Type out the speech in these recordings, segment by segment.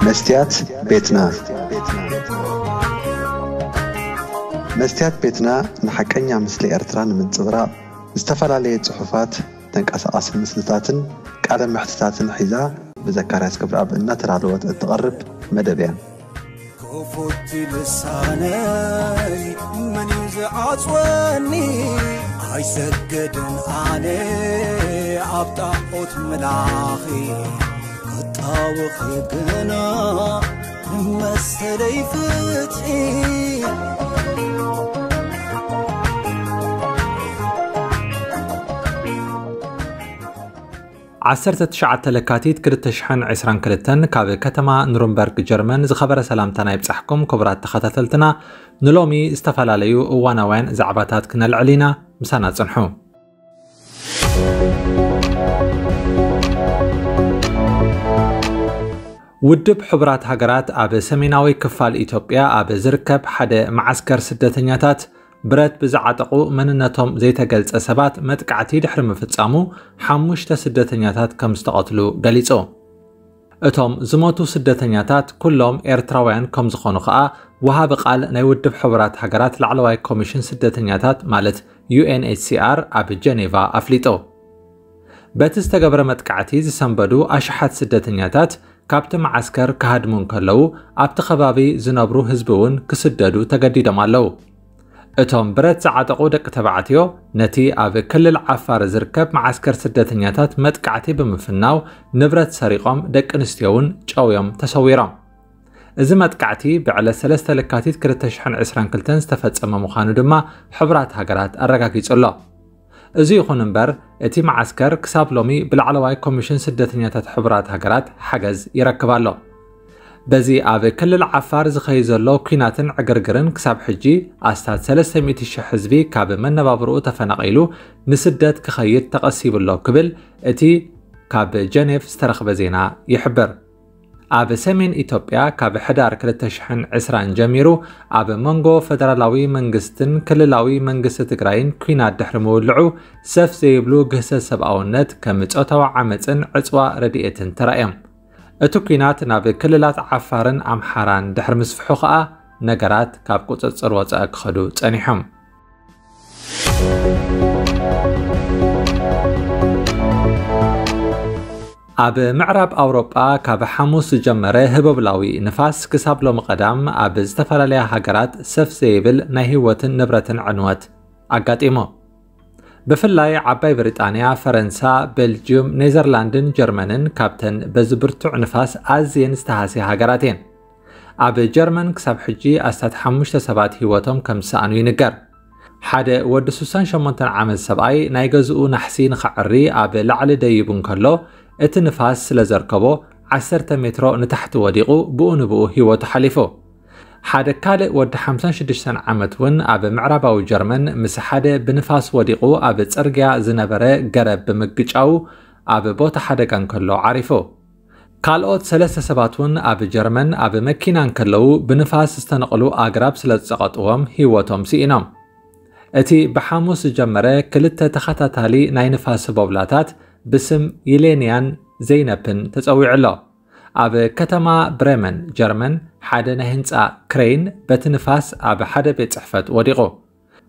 መስትያት ቤትና። መስትያት ቤትና ንሓቀኛ ምስሊ ኤርትራ ንምንጽብራቕ ዝተፈላለየ ጽሑፋት፣ ተንቀሳቓሲ ምስልታትን ቃለ መሕትታትን ሒዛ ብዘካርያስ ገብረኣብ እናተዳለወት እትቐርብ መደብ እያ። ክፉት ልሳነይ መን እዩ ዝዓጽወኒ? ኣይሰግድን ኣነ ኣብ ጣዖት ምላኺ፣ ክጣወኺ ግና ንመሰለይ ፍትሒ። ዓሰርተ ትሽዓተ ለካቲት ክልተ ሽሕን ዕስራን ክልተን ካብ ከተማ ኑርንበርግ ጀርመን ዝኸበረ ሰላምታና ይብጻሕኩም ክቡራት ተኸታተልትና። ንሎሚ ዝተፈላለዩ እዋናውያን ዛዕባታት ክነልዕል ኢና። ምሳና ጽንሑ። ውድብ ሕቡራት ሃገራት ኣብ ሰሜናዊ ክፋል ኢትዮጵያ ኣብ ዝርከብ ሓደ መዓስከር ስደተኛታት ብረት ብዝዓጠቑ መንነቶም ዘይተገልጸ ሰባት መጥቃዕቲ ድሕሪ ምፍጻሙ ሓሙሽተ ስደተኛታት ከም ዝተቐትሉ ገሊጹ። እቶም ዝሞቱ ስደተኛታት ኩሎም ኤርትራውያን ከም ዝኾኑ ከኣ ወሃቢ ቃል ናይ ውድብ ሕቡራት ሃገራት ላዕለዋይ ኮሚሽን ስደተኛታት ማለት ዩ ኤን ኤች ሲ ኣር ኣብ ጀኔቫ ኣፍሊጡ። በቲ ዝተገብረ መጥቃዕቲ ዝሰንበዱ ኣሽሓት ስደተኛታት ካብቲ መዓስከር ክሃድሙ እንከለዉ ኣብቲ ከባቢ ዝነብሩ ህዝቢ እውን ክስደዱ ተገዲዶም ኣለዉ። እቶም ብረት ዝዓጠቑ ደቂ ተባዕትዮ ነቲ ኣብ ክልል ዓፋር ዝርከብ መዓስከር ስደተኛታት መጥቃዕቲ ብምፍናው ንብረት ሰሪቖም ደቂ ኣንስትዮ እውን ጨውዮም ተሰዊሮም። እዚ መጥቃዕቲ ብዕለት ሰለስተ ለካቲት ክልተ ሽሕን ዕስራን ክልተን ዝተፈጸመ ምዃኑ ድማ ሕቡራት ሃገራት ኣረጋጊጹ ኣሎ። እዚ ይኹን እምበር እቲ መዓስከር ክሳብ ሎሚ ብላዕለዋይ ኮሚሽን ስደተኛታት ሕቡራት ሃገራት ሓገዝ ይረክብ ኣሎ። በዚ ኣብ ክልል ዓፋር ዝኸይድ ዘሎ ኲናትን ዕግርግርን ክሳብ ሕጂ ኣስታት ሰለስተ ሚእቲ ሽሕ ህዝቢ ካብ መነባብርኡ ተፈናቒሉ ንስደት ክኸይድ ተቐሲቡ ኣሎ ክብል እቲ ካብ ጀኔቭ ዝተረኽበ ዜና ይሕብር። ኣብ ሰሜን ኢትዮጵያ ካብ ሕዳር ክልተ ሽሕን ዕስራን ጀሚሩ ኣብ መንጎ ፈደራላዊ መንግስትን ክልላዊ መንግስቲ ትግራይን ኲናት ድሕሪ ምውልዑ ሰፍ ዘይብሉ ግህሰት ሰብኣውነት ከም ጾታዊ ዓመፅን ዕፅዋ ረድኤትን ተራእዮም። እቲ ኲናት ናብ ክልላት ዓፋርን ኣምሓራን ድሕሪ ምስፍሑ ከኣ ነገራት ካብ ቁፅፅር ወፃኢ ክኸዱ ጸኒሖም። ኣብ ምዕራብ ኣውሮጳ ካብ ሓሙስ ዝጀመረ ህቦብላዊ ንፋስ ክሳብ ሎሚ ቀዳም ኣብ ዝተፈላለያ ሃገራት ሰፍ ዘይብል ናይ ህይወትን ንብረትን ዕንወት ኣጋጢሙ። ብፍላይ ዓባይ ብሪጣንያ፣ ፈረንሳ፣ ቤልጅዩም፣ ኔዘርላንድን ጀርመንን ካብተን በዚ ብርቱዕ ንፋስ ኣዝየን ዝተሃስያ ሃገራት እየን። ኣብ ጀርመን ክሳብ ሕጂ ኣስታት ሓሙሽተ ሰባት ህይወቶም ከም ዝሰኣኑ ይንገር። ሓደ ወዲ ስሳን ሸሞንተን ዓመት ሰብኣይ ናይ ገዝኡ ናሕሲ ንኸዕሪ ኣብ ላዕሊ ደይቡ እንከሎ፣ እቲ ንፋስ ስለ ዘርከቦ ዓሰርተ ሜትሮ ንታሕቲ ወዲቑ ብኡ ንብኡ ህይወቱ ሓሊፉ። ሓደ ካልእ ወዲ ሓምሳን ሽዱሽተን ዓመት እውን ኣብ ምዕራባዊ ጀርመን ምስ ሓደ ብንፋስ ወዲቑ ኣብ ጽርግያ ዝነበረ ገረብ ብምግጫዉ ኣብ ቦታ ሓደጋ እንከሎ ዓሪፉ። ካልኦት ሰለስተ ሰባት እውን ኣብ ጀርመን ኣብ መኪና እንከለዉ ብንፋስ ዝተነቕሉ ኣግራብ ስለ ዝጸቐጥዎም ህይወቶም ስኢኖም። እቲ ብሓሙስ ዝጀመረ ክልተ ተኸታታሊ ናይ ንፋስ ህቦብላታት ብስም ይሌንያን ዘይነፕን ተጸዊዑ ኣሎ። ኣብ ከተማ ብሬመን ጀርመን ሓደ ናይ ህንጻ ክሬን በቲ ንፋስ ኣብ ሓደ ቤት ጽሕፈት ወዲቑ።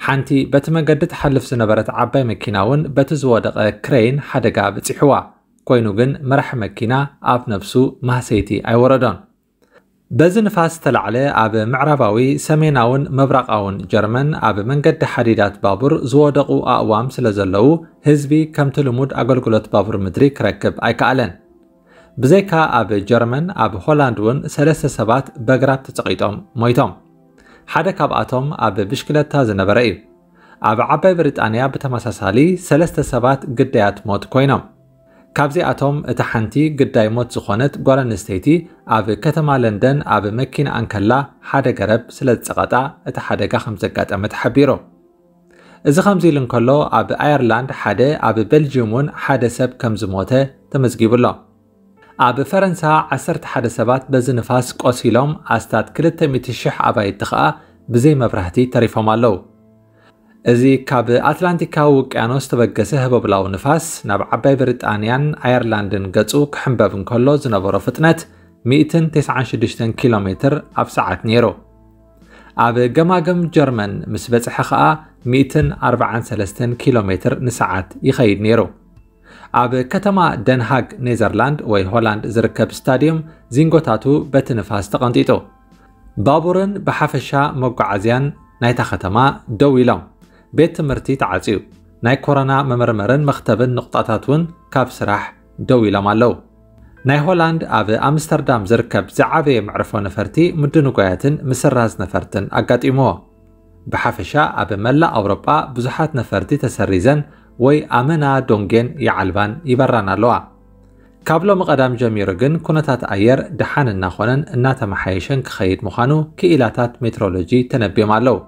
ሓንቲ በቲ መገዲ ትሓልፍ ዝነበረት ዓባይ መኪና እውን በቲ ዝወደቐ ክሬን ሓደጋ በጺሕዋ። ኮይኑ ግን መራሒ መኪና ኣብ ነብሱ ማህሰይቲ ኣይወረዶን። በዚ ንፋስ ዝተላዕለ ኣብ ምዕራባዊ፣ ሰሜናውን ምብራቓውን ጀርመን ኣብ መንገዲ ሓዲዳት ባቡር ዝወደቑ ኣእዋም ስለ ዘለዉ ህዝቢ ከምቲ ልሙድ ኣገልግሎት ባቡር ምድሪ ክረክብ ኣይከኣለን። ብዘይካ ኣብ ጀርመን ኣብ ሆላንድ እውን ሰለስተ ሰባት በግራብ ተጸቒጦም ሞይቶም። ሓደ ካብኣቶም ኣብ ብሽክለታ ዝነበረ እዩ። ኣብ ዓባይ ብሪጣንያ ብተመሳሳሊ ሰለስተ ሰባት ግዳያት ሞት ኮይኖም። ካብዚኣቶም እታ ሓንቲ ግዳይ ሞት ዝኾነት ጓል ኣንስተይቲ ኣብ ከተማ ለንደን ኣብ መኪና ኣንከላ ሓደ ገረብ ስለ ዝጸቐጣ እቲ ሓደጋ ከም ዘጋጠመ ተሓቢሩ። እዚ ከምዚ ኢሉ እንከሎ ኣብ ኣየርላንድ ሓደ ኣብ ቤልጅዩም እውን ሓደ ሰብ ከም ዝሞተ ተመዝጊቡ ኣሎ። ኣብ ፈረንሳ ዓሰርተ ሓደ ሰባት በዚ ንፋስ ቆሲሎም ኣስታት ክልተ ሚእቲ ሽሕ ኣባይቲ ኸኣ ብዘይ መብራህቲ ተሪፎም ኣለዉ። እዚ ካብ ኣትላንቲካዊ ውቅያኖስ ተበገሰ ህቦብላዊ ንፋስ ናብ ዓባይ ብሪጣንያን ኣየርላንድን ገጹ ክሕንበብ እንከሎ ዝነበሮ ፍጥነት ሚእትን ተስዓን ሽዱሽተን ኪሎ ሜትር ኣብ ሰዓት ነይሩ። ኣብ ገማግም ጀርመን ምስ በጽሐ ኸኣ ሚእትን ኣርባዓን ሰለስተን ኪሎ ሜትር ንሰዓት ይኸይድ ነይሩ። ኣብ ከተማ ደንሃግ ኔዘርላንድ ወይ ሆላንድ ዝርከብ ስታድዮም ዚንጎታቱ በቲ ንፋስ ተቐንጢጡ። ባቡርን ብሓፈሻ መጓዓዝያን ናይታ ከተማ ደው ኢሎም። ቤት ትምህርቲ ተዓጽዩ። ናይ ኮሮና መመርመርን መኽተብን ንቑጣታት እውን ካብ ስራሕ ደው ኢሎም ኣለዉ። ናይ ሆላንድ ኣብ ኣምስተርዳም ዝርከብ ዝዓበየ መዕርፎ ነፈርቲ ምድንጓያትን ምስራዝ ነፈርትን ኣጋጢምዎ። ብሓፈሻ ኣብ መላእ ኣውሮጳ ብዙሓት ነፈርቲ ተሰሪዘን ወይ ኣመና ዶንጌን ይዓልባን ይበራን ኣለዋ። ካብ ሎሚ ቀዳም ጀሚሩ ግን ኩነታት ኣየር ደሓን እናኾነን እናተመሓየሸን ክኸይድ ምዃኑ ክኢላታት ሜትሮሎጂ ተነብዮም ኣለዉ።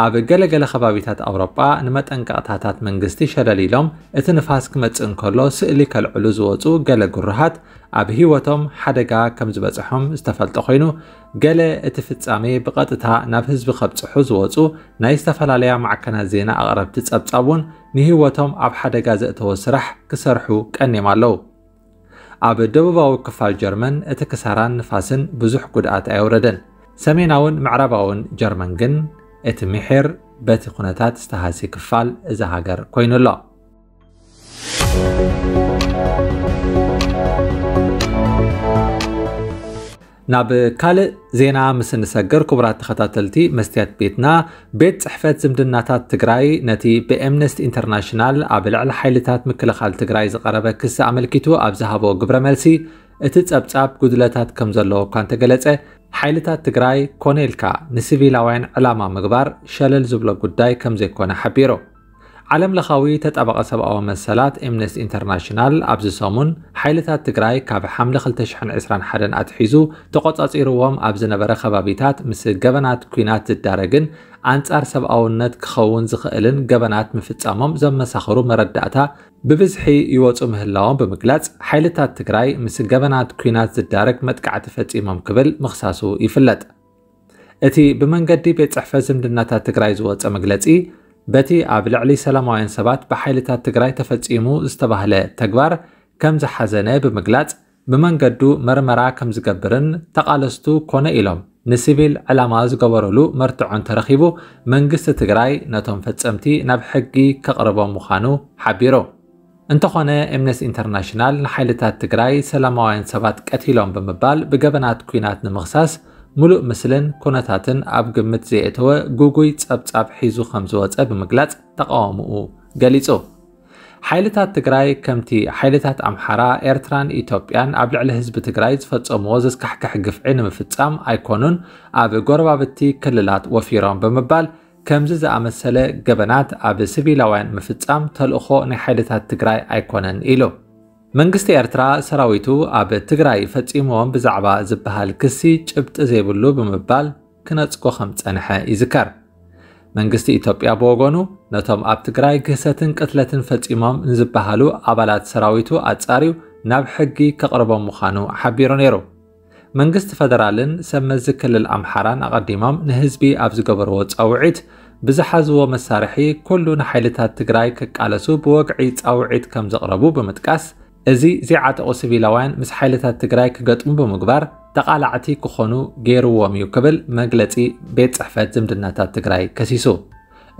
ኣብ ገለገለ ከባቢታት ኣውሮጳ ንመጠንቀቕታታት መንግስቲ ሸለል ኢሎም እቲ ንፋስ ክመጽእ እንከሎ ስእሊ ከልዕሉ ዝወጹ ገለ ግሩሃት ኣብ ህይወቶም ሓደጋ ከም ዝበጽሖም ዝተፈልጠ ኮይኑ፣ ገለ እቲ ፍጻሜ ብቐጥታ ናብ ህዝቢ ከብጽሑ ዝወጹ ናይ ዝተፈላለያ ማዕከናት ዜና ኣቕረብቲ ጸብጻብ እውን ንህይወቶም ኣብ ሓደጋ ዘእተወ ስራሕ ክሰርሑ ቀንዮም ኣለዉ። ኣብ ደቡባዊ ክፋል ጀርመን እቲ ክሳራን ንፋስን ብዙሕ ጉድኣት ኣየውረደን። ሰሜናውን ምዕራባውን ጀርመን ግን እቲ ምሒር በቲ ኩነታት ዝተሃሲ ክፋል እዛ ሃገር ኮይኑ ኣሎ። ናብ ካልእ ዜና ምስ እንሰግር፣ ክቡራት ተኸታተልቲ መስትያት ቤትና፣ ቤት ጽሕፈት ዝምድናታት ትግራይ ነቲ ብኤምነስቲ ኢንተርናሽናል ኣብ ልዕሊ ሓይልታት ምክልኻል ትግራይ ዝቐረበ ክሲ ኣመልኪቱ ኣብ ዝሃቦ ግብረ መልሲ፣ እቲ ጸብጻብ ጉድለታት ከም ዘለዎ እኳ እንተገለጸ፣ ሓይልታት ትግራይ ኮነ ኢልካ ንሲቪላውያን ዕላማ ምግባር ሸለል ዝብሎ ጉዳይ ከም ዘይኮነ ሓቢሩ። ዓለም ለኻዊ ተጣባቒ ሰብኣዊ መሰላት ኤምነስቲ ኢንተርናሽናል ኣብዚ ሰሙን ሓይልታት ትግራይ ካብ ሓምለ ክልተ ሽሕን ዕስራን ሓደን ኣትሒዙ ተቖጻጺርዎም ኣብ ዝነበረ ከባቢታት ምስ ገበናት ኲናት ዝዳረግን ኣንጻር ሰብኣውነት ክኸውን ዝኽእልን ገበናት ምፍጻሞም ዘመሳኽሩ መረዳእታ ብብዝሒ ይወጹ ምህላዎም ብምግላጽ፣ ሓይልታት ትግራይ ምስ ገበናት ኲናት ዝዳረግ መጥቃዕቲ ፈጺሞም ክብል ምኽሳሱ ይፍለጥ። እቲ ብመንገዲ ቤት ጽሕፈት ዝምድናታት ትግራይ ዝወጸ መግለጺ፣ በቲ ኣብ ልዕሊ ሰላማውያን ሰባት ብሓይልታት ትግራይ ተፈጺሙ ዝተባህለ ተግባር ከም ዝሓዘነ ብምግላጽ፣ ብመንገዱ መርመራ ከም ዝገብርን ተቓለስቱ ኮነ ኢሎም ንሲቪል ዕላማ ዝገበሩሉ መርትዖ እንተረኺቡ፣ መንግስቲ ትግራይ ነቶም ፈጸምቲ ናብ ሕጊ ከቕርቦም ምዃኑ ሓቢሩ። እንተኾነ፣ ኤምነስቲ ኢንተርናሽናል ንሓይልታት ትግራይ ሰላማውያን ሰባት ቀቲሎም ብምባል ብገበናት ኲናት ንምኽሳስ፣ ምሉእ ምስልን ኩነታትን ኣብ ግምት ዘየእተወ ግጉይ ጸብጻብ ሒዙ ከም ዝወጸ ብምግላጽ ተቃውሞኡ ገሊጹ። ሓይልታት ትግራይ ከምቲ ሓይልታት ኣምሓራ፣ ኤርትራን ኢትዮጵያን ኣብ ልዕሊ ህዝቢ ትግራይ ዝፈጸምዎ ዘስካሕክሕ ግፍዒ ንምፍጻም ኣይኮኑን ኣብ ጎረባብቲ ክልላት ወፊሮም ብምባል፣ ከምዚ ዝኣመሰለ ገበናት ኣብ ሲቪላውያን ምፍጻም ተልእኾ ናይ ሓይልታት ትግራይ ኣይኮነን ኢሉ። መንግስቲ ኤርትራ ሰራዊቱ ኣብ ትግራይ ፈጺምዎም ብዛዕባ ዝበሃል ክሲ ጭብጢ ዘይብሉ ብምባል ክነጽጎ ከም ዝጸንሐ ይዝከር። መንግስቲ ኢትዮጵያ ብወገኑ ነቶም ኣብ ትግራይ ግህሰትን ቅትለትን ፈጺሞም ንዝበሃሉ ኣባላት ሰራዊቱ ኣጻርዩ ናብ ሕጊ ከቕርቦም ምዃኑ ሓቢሩ ነይሩ። መንግስቲ ፈደራልን ሰብ መዚ ክልል ኣምሓራን ኣቐዲሞም ንህዝቢ ኣብ ዝገበርዎ ጻውዒት፣ ብዝሓዝዎ መሳርሒ ኩሉ ንሓይልታት ትግራይ ክቃለሱ ብወግዒ ጻውዒት ከም ዘቕረቡ ብምጥቃስ፣ እዚ ዘይዓጠቑ ሲቪላውያን ምስ ሓይልታት ትግራይ ክገጥሙ ብምግባር ተቓላዕቲ ክኾኑ ገይርዎም እዩ ክብል መግለጺ ቤት ጽሕፈት ዝምድናታት ትግራይ ከሲሱ።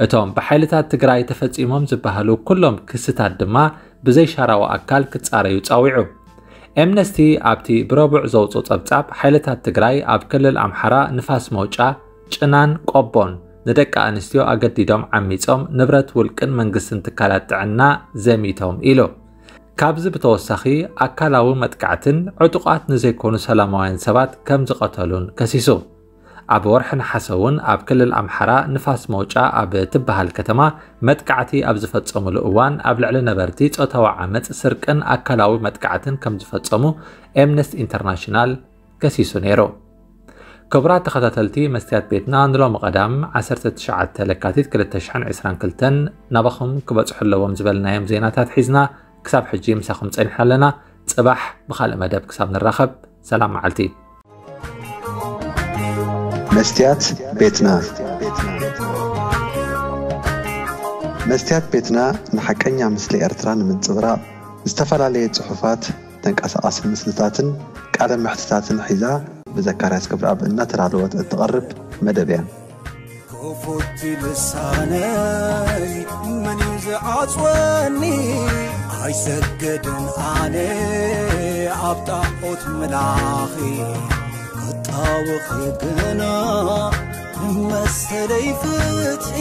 እቶም ብሓይልታት ትግራይ ተፈጺሞም ዝበሃሉ ኩሎም ክስታት ድማ ብዘይሻራዊ ኣካል ክጻረዩ ጻዊዑ። ኤምነስቲ ኣብቲ ብረቡዕ ዘውጽኦ ጸብጻብ፣ ሓይልታት ትግራይ ኣብ ክልል ኣምሓራ ንፋስ መውጫ፣ ጭናን ቆቦን ንደቂ ኣንስትዮ ኣገዲዶም ዓሚጾም ንብረት ውልቅን መንግስትን ትካላት ጥዕና ዘሚቶም ኢሉ። ካብዚ ብተወሳኺ ኣካላዊ መጥቃዕትን ዕጡቓት ንዘይኮኑ ሰላማውያን ሰባት ከም ዝቐተሉን ከሲሱ። ኣብ ወርሒ ነሓሰ እውን ኣብ ክልል ኣምሓራ ንፋስ መውጫ ኣብ ትበሃል ከተማ መጥቃዕቲ ኣብ ዝፈጸሙሉ እዋን ኣብ ልዕሊ ነበርቲ ጾታዊ ዓመጽ፣ ስርቅን ኣካላዊ መጥቃዕትን ከም ዝፈጸሙ ኤምነስቲ ኢንተርናሽናል ከሲሱ ነይሩ። ክቡራት ተኸታተልቲ መስትያት ቤትና፣ ንሎሚ ቀዳም ዓሰርተ ትሽዓተ ለካቲት ክልተ ሽሕን ዕስራን ክልተን ናባኹም ክበጽሑ ኣለዎም ዝበልናዮም ዜናታት ሒዝና ክሳብ ሕጂ ምሳኹም ጸኒሕና ኣለና። ጽባሕ ብኻልእ መደብ ክሳብ ንራኸብ፣ ሰላም መዓልቲ። መስትያት ቤትና። መስትያት ቤትና ንሓቀኛ ምስሊ ኤርትራ ንምንጽብራቕ ዝተፈላለየ ጽሑፋት፣ ተንቀሳቓሲ ምስልታትን ቃለ መሕትታትን ሒዛ ብዘካርያስ ክብረኣብ እናተዳለወት እትቐርብ መደብ እያ። ክፉት ልሳነይ መን እዩ ዝዓጽወኒ? ኣይሰግድን ኣነ ኣብ ጣዖት ምላኺ፣ ክጣወኺ ግና መሰለይ ፍትሒ።